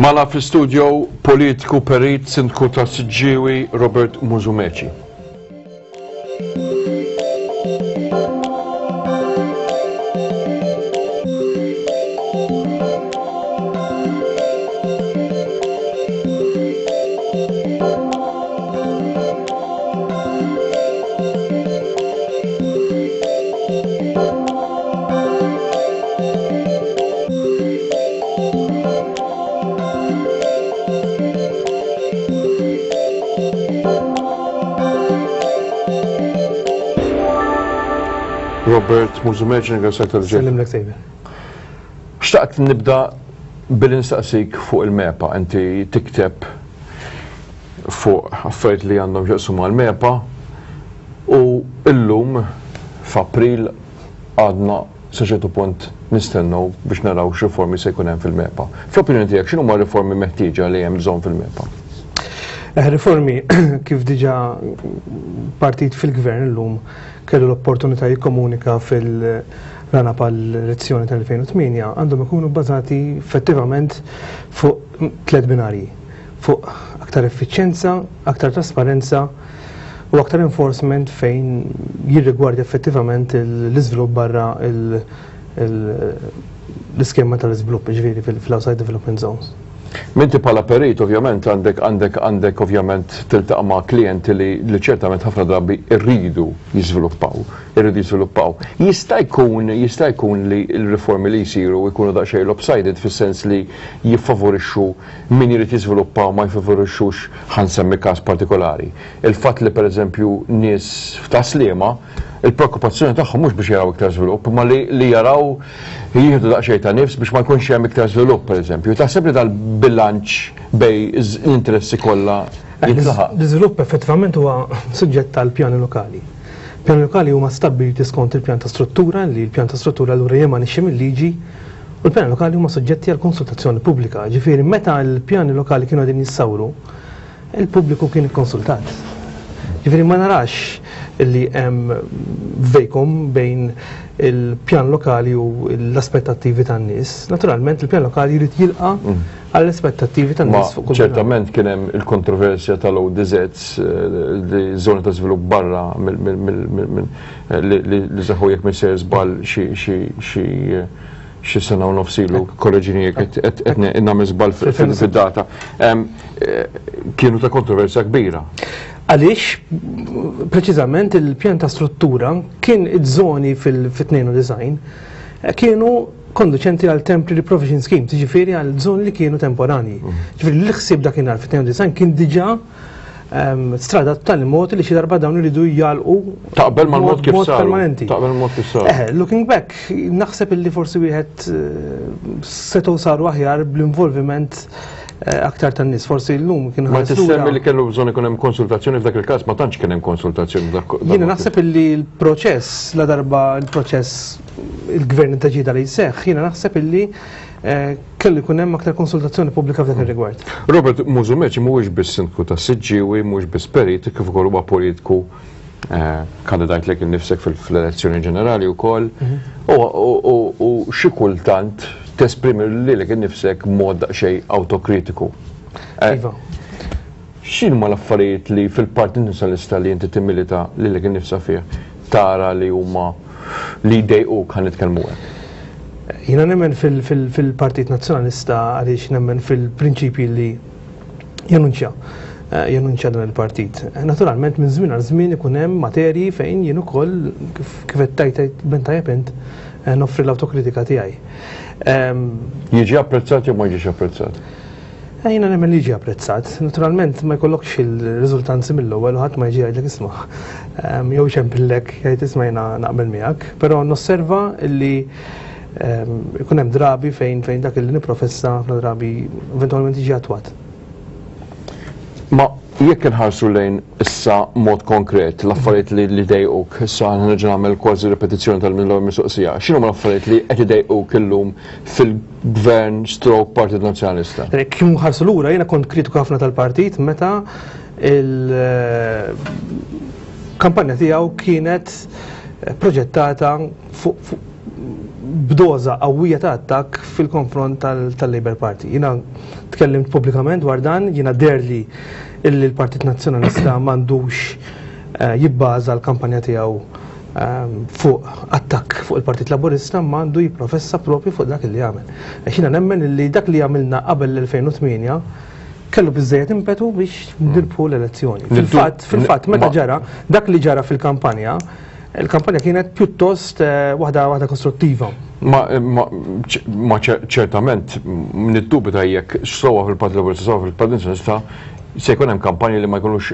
Magħna fl-istudio politiku perit sindku ta' Siġġiewi Robert Musumeci. Robert Musumeci, ringrazzjak tal-ġej. Sellimlek Xavier. Xtaqt nibda billi nistaqsik fuq il-MEPA. Inti tikteb fuq affarijiet li għandhom x'jaqsmu mal-MEPA u illum f'April għadna sa ċertu punt nistennew biex naraw x'riformi se jkun hemm fil-MEPA. Fl-opinjoni tiegħek x'inhuma r-riformi meħtieġa li hemm bżonn fil-MEPA? Eh, riformi kif diġà partit fil-gvern illum kellu l-opportunità jikkomunika fil-rana pal-elezzjoni tal-2008 għandhom ikunu bbażati effettivament fuq tliet binarji fuq aktar effiċjenza, aktar trasparenza u aktar enforcement fejn jirrigwardja effettivament l-iżvilupp barra l-iskema tal-iżvilupp, ġifieri fil-outside development zones. Minti bħala perit ovvjament għandek għandek għandek ovvjament tiltaqa' ma' klijenti li, li ċertament ħafna drabi rridu jiżviluppaw, irridu jiżviluppaw. Jista' jkun jista' jkun li l-riformi li jsiru jkunu daqsxejn lopsided fis-sens li jiffavorixxu min irid jiżviluppa u ma jfavorixxux ħa nsemmi każ partikolari. Il-fatt li pereżempju nies f'Tas-Sliema il-preokkupazzjoni tagħhom mhux biex jaraw iktar żvilupp imma li li jaraw jieħdu daqsxejn ta' nifs biex ma jkunx hemm iktar żvilupp pereżempju. Taħseb li dal-bilanċ bejn l-interessi kollha jintlaħaq? L-iżvilupp effettivament huwa suġġett tal-pjani lokali. Pjani lokali huma stabbiliti skont il-pjan ta' struttura li l-pjan ta' struttura allura jemanixxi mil-liġi U l-pjani lokali huma suġġetti għal konsultazzjoni pubblika, ġifieri meta l-pjani lokali kienu qegħdin jissawru, il-pubbliku kien ikkonsultat. Ġifieri ma narax li hemm vacuum bejn il-pjan lokali u l-aspettattivi tan-nies. Naturalment il-pjan lokali jrid jilqa' mm. għall-aspettattivi tan-nies fuq kull. Ċertament kien hemm il-kontroversja tal-ODZs eh, li żoni ta' żvilupp barra li seħħu jekk minn sejjer żball xi xi sena u nofs ilu, korreġini jekk qed nagħmel żball fid-data, kienu ta' kontroversja kbira. Għaliex preċiżament il-pjan ta' struttura kien iż-żoni fil-92 kienu konduċenti għal temporary provision scheme, ġifieri għal żoni li kienu temporani. Mm. Ġifieri l-ħsieb dakinhar fit-92 kien diġà strada b'tali mod li xi darba dawn iridu jgħalqu Taqbel mal-mod kif saru. permanenti. Taqbel mal-mod kif saru. Eh, looking back, naħseb illi forsi wieħed eh, setgħu saru aħjar bl-involviment eh, aktar tan-nies. Forsi llum kien Ma tissemmi li kellu bżonn ikun hemm konsultazzjoni f'dak il-każ ma tantx kien hemm konsultazzjoni f'dak. Jiena naħseb illi l-proċess la darba l-proċess il-gvern intaġida li jseħħ, jiena naħseb illi eh, kellu jkun hemm aktar konsultazzjoni pubblika f'dak ir-rigward. Robert Musumeci mhuwiex biss sindku ta' Siġġiewi, mhuwiex biss perit, kif ukoll huwa politiku eh, kandidajt lek innifsek fil-elezzjoni ġenerali wkoll. Mhm. U xi kultant tesprimi lilek innifsek b'mod daqsxejn awtokritiku. Eh, iva. X'inhuma l-affarijiet li fil-Partit Nazzjonalista li inti timmilita lilek innifsa fih tara li huma li jdejquk ħa nitkellmu hekk? Jiena nemmen fil-Partit Nazzjonalista għaliex nemmen fil-prinċipji li janunċja eh, janunċja dan il-partit. Naturalment minn żmien għal żmien ikun hemm materji fejn jien ukoll kif qed tajt ben tajjeb int eh, noffri l-awtokritika tiegħi. Ehm, Jiġi apprezzat jew ma jiġix apprezzat? Eh, jiena nemmen li jiġi apprezzat. Naturalment ma jkollokx il-riżultanzi mill-ewwel u ħadd ma jiġi jgħidlek isma' ehm, jew ċempillek jgħid isma' jiena naqbel miegħek, però nosserva li ehm, ikun hemm drabi fejn fejn dak li nipprofessa ħafna drabi eventwalment jiġi attwat. Ma jekk inħarsu lejn issa mod konkret l-affarijiet li li dejquk, issa nerġa' nagħmel kważi repetizzjoni tal-mill-ewwel mistoqsija, x'inhuma l-affarijiet li qed idejquk illum fil Gvern stroke Partit Nazzjonalista. Kif nħarsu lura jiena kont kritiku ħafna tal-partit meta il-kampanja tiegħu kienet proġettata fuq b'doża qawwija ta' attakk fil-konfront tal-Labour Party. Jiena tkellimt pubblikament dwar dan, jiena deherli illi l-Partit Nazzjonalista m'għandux jibbaża l-kampanja tiegħu fuq attakk fuq il-Partit Laburista ma għandu jipprofessa propju fuq dak li għamel. Għax jiena nemmen illi dak li għamilna qabel l-2008 kellu biżżejjed impetu biex nirbħu l-elezzjoni. Fil-fatt, fil-fatt, meta ġara, dak li ġara fil-kampanja, il-kampanja kienet pjuttost waħda waħda kostruttiva. Ma ċertament niddubita jekk sowa fil-Partit Laburista sowa fil-Partit Nazzjonalista se jkun hemm kampanji li ma jkunux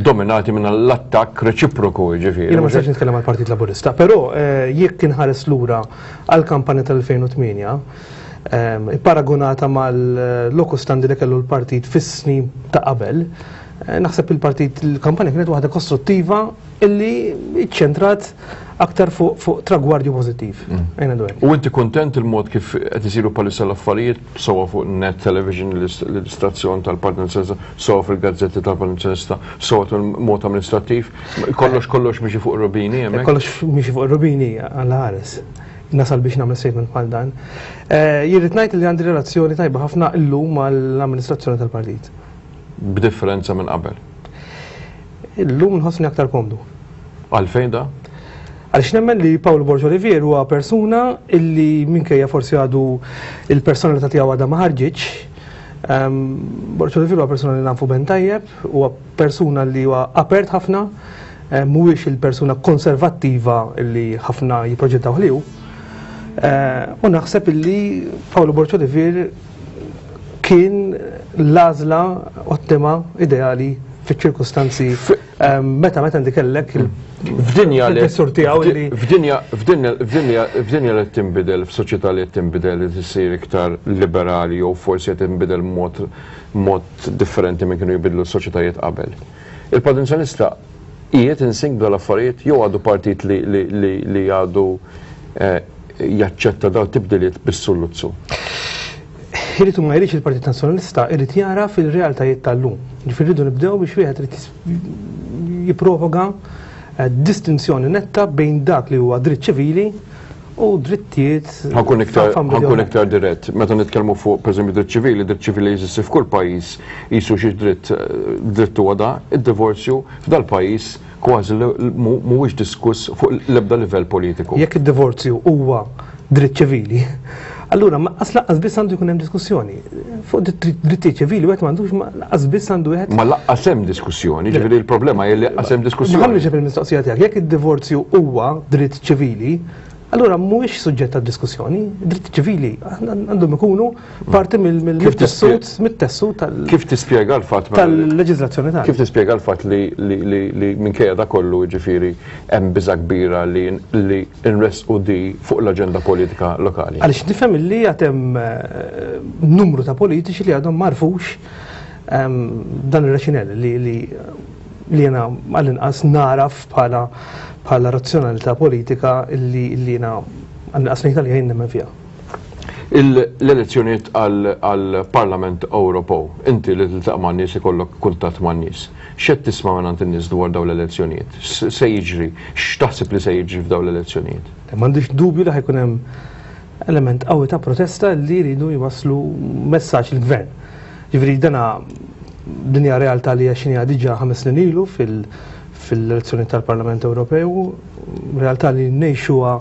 dominati minn l-attakk reċiproku, ġifieri. Jiena ma nistax nitkellem għall-Partit Laburista, però jekk inħares lura għall-kampanja tal-2008, paragonata mal-locus standi li kellu l-partit fis-snin ta' qabel, naħseb il-partit il-kampanja kienet waħda kostruttiva illi ċentrat aktar fuq tragwardju pożittiv. U inti kontent il-mod kif qed isiru bħalissa l-affarijiet sewa fuq Net Television, l-istazzjon tal-Partit Nazzjonalista, sewa fil-gazzetti tal-Partit Nazzjonalista, sewa mod amministrattiv, kollox kollox miexi fuq rubini hemmhekk? Kollox miexi fuq rubini għal ħares. Nasal biex nagħmel statement bħal dan. Jirrid ngħid li għandi relazzjoni tajba ħafna illum mal-amministrazzjoni tal-partit. B'differenza minn qabel? Illum nħossni aktar komdu. Għalfejn da? Għaliex nemmen li Paolo Borg Olivier huwa persuna illi minkejja forsi għadu il-personalità tiegħu għadha ma ħarġitx. Borg Olivier huwa persuna li nafu ben tajjeb, huwa persuna li huwa apert ħafna, mhuwiex il-persuna konservattiva li ħafna jipproġettaw li hu. U naħseb illi Paolo Borg Olivier kien l-għażla ottima ideali fiċ-ċirkustanzi meta meta inti kellek F'dinja li tiegħu li f'dinja f'dinja f'dinja f'dinja li tinbidel f'soċjetà li tinbidel li tissir iktar liberali jew forsi qed tinbidel mod mod differenti minn kienu jibidlu s-soċjetajiet qabel. Il-Partit Nazzjonalista qiegħed in sync b'dal-affarijiet jew għadu partit li li li li għadu jaċċetta daw tibdiliet bis-sulluzzu? Irid u ma jridx il-Partit Nazzjonalista irid jara fil-realtajiet tal-lum. Ġifieri rridu nibdew biex wieħed irid jipprovoka distinzjoni netta bejn dak li huwa dritt ċivili u drittijiet. Ħa nkun iktar, ħa nkun iktar dirett. Meta nitkellmu fuq pereżempju dritt ċivili, dritt ċivili jeżisti f'kull pajjiż qisu xi dritt dritt huwa da, id-divorzju f'dal-pajjiż kważi mhuwiex diskuss fuq l-ebda livell politiku. Jekk id-divorzju huwa dritt ċivili, allura ma laqqas biss għandu jkun hemm diskussjoni. Fuq drittijiet ċivili wieħed m'għandux laqqas biss għandu wieħed. Ma laqqas hemm diskussjoni, ġifieri l-problema hi li laqqas hemm diskussjoni. Ħalli ġeb il-mistoqsija tiegħek, jekk id-divorzju huwa dritt ċivili, allura mhuwiex suġġett ta' diskussjoni. Dritt ċivili għandhom ikunu parti mill-tessut mit-tessut tal Kif tispjega l-fatt tal-leġiżlazzjoni tagħna? Kif tispjega l-fatt li li minkejja da kollu ġifieri hemm biża' kbira li li nressqu di fuq l-aġenda politika lokali? Għaliex nifhem li għad hemm numru ta' politiċi li għadhom m'għarfux dan ir-raxinell li li li jena għall-inqas naraf bħala bħala razzjonalità politika li li jena għall-inqas ngħid għalija jien nemmen fiha. L-elezzjonijiet għall-Parlament Ewropew, inti li tiltaqa' man-nies ikollok kuntatt man-nies. X'qed tisma' mingħand in-nies dwar dawn l-elezzjonijiet? X'se jiġri? X'taħseb li se jiġri f'dawn l-elezzjonijiet? M'għandix dubju li ħa jkun hemm element qawwi ta' protesta li jridu jwasslu messaġġ lill-gvern. Ġifieri dana din hija realtà li għexniha diġà 5 snin ilu fil-elezzjoni tal-Parlament Ewropew, realtà li ngħixuha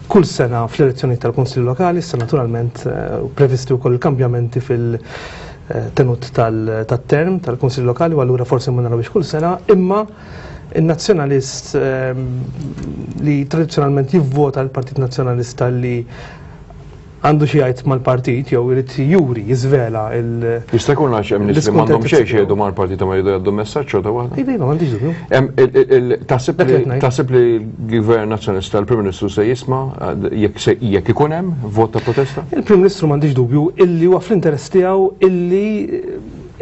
kull sena fl-elezzjoni tal-Kunsilli Lokali, issa naturalment previsti wkoll il-kambjamenti fil-tenut tat-term tal-Kunsilli Lokali u allura forsi ma narawhiex kull sena, imma in-nazzjonalist li tradizzjonalment jivvota l-Partit Nazzjonalista li għandu xi jgħid mal-partit jew irid juri, jiżvela il- Jista' jkun għax hemm nies li m'għandhom xejn xejdu mal-partit ma jridu jgħaddu messaġġ xorta waħda? Iva, iva, m'għandix dubju. Taħseb li l-Gvern Nazzjonalista l-Prim Ministru se jisma' jekk ikun hemm vot ta' protesta? Il-Prim Ministru m'għandix dubju illi huwa fl-interess tiegħu illi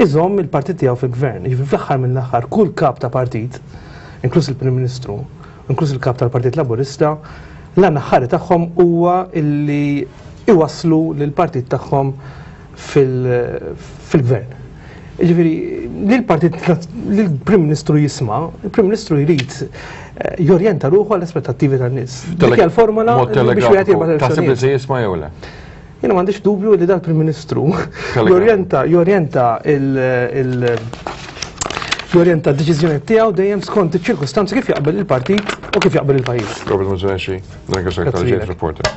iżomm il-partit tiegħu fil-gvern. Jiġifieri fl-aħħar mill-aħħar kull kap ta' partit, inkluż il-Prim Ministru, inkluż il-kap tal-Partit Laburista, l-għan aħħari tagħhom huwa illi iwasslu lill-partit tagħhom fil-gvern. Ġifieri, li l-partit li l-Prim Ministru jisma', il-Prim Ministru jrid eh, jorjenta ruħu għall-aspettattivi tan-nies. Dik hija l-formula biex wieħed jirbaħ Taħseb li se jisma' jew le? Jiena m'għandix dubju li dal-Prim Ministru jorjenta jorjenta il jorjenta d-deċiżjoni tiegħu dejjem skont iċ-ċirkustanzi kif jaqbel il-partit u kif jaqbel il-pajjiż. Robert Mużenxi, nirringrazzjak tal-ġejt reporter.